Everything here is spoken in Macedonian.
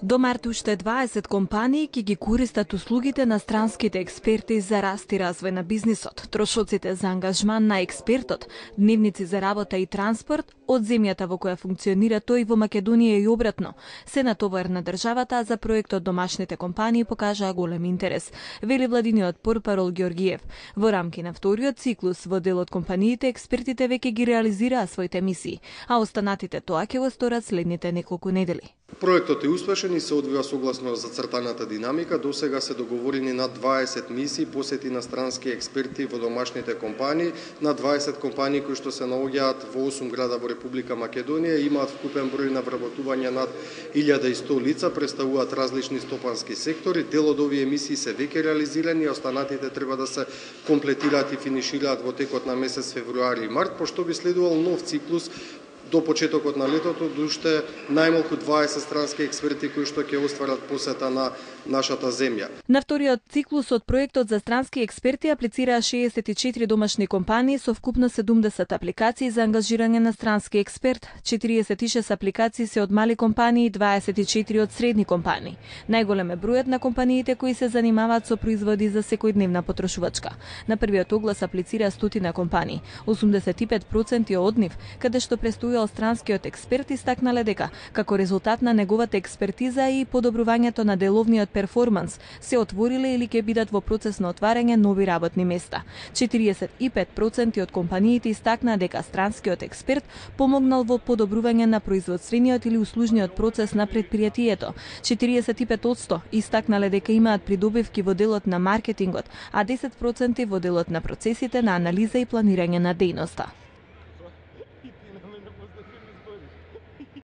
До март уште 20 компании ќе ги користат услугите на странските експерти за раст и развој на бизнисот. Трошоците за ангажман на експертот, дневници за работа и транспорт од земјата во која функционира тој во Македонија и обратно се натовар на државата, а за проектот домашните компании покажаа голем интерес, вели владиниот портпарол Ѓорѓиев. Во рамки на вториот циклус во дел од компаниите експертите веќе ги реализираа своите мисии, а останатите тоа ќе го сторат следните неколку недели. Проектот е успешен и се одвива согласно зацртаната динамика. До сега се договорени над 20 мисии посети на странски експерти во домашните компании, на 20 компании кои што се наоѓаат во 8 града во Република Македонија, имаат вкупен број на вработување над 1100 лица, представуваат различни стопански сектори. Дел од овие мисии се веќе реализирани, а останатите треба да се комплетираат и финишираат во текот на месец февруари и март, пошто би следувал нов циклус до почетокот на летото, уште најмалку 20 странски експерти кои што ќе остварат посета на нашата земја. На вториот циклус од проектот за странски експерти аплицираа 64 домашни компании со вкупно 70 апликации за ангажирање на странски експерт, 46 апликации се од мали компании и 24 од средни компании. Најголем е бројот на компаниите кои се занимаваат со производи за секојдневна потрошувачка. На првиот оглас аплицира стотина компании, 85% од нив, каде што престојал странскиот експерт, истакнале дека како резултат на неговата експертиза и подобрувањето на деловниот перформанс се отвориле или ќе бидат во процес на отварање нови работни места. 45% од компаниите истакнаа дека странскиот експерт помогнал во подобрување на производствениот или услужниот процес на претпријатието. 45% истакнале дека имаат придобивки во делот на маркетингот, а 10% во делот на процесите на анализа и планирање на дејноста.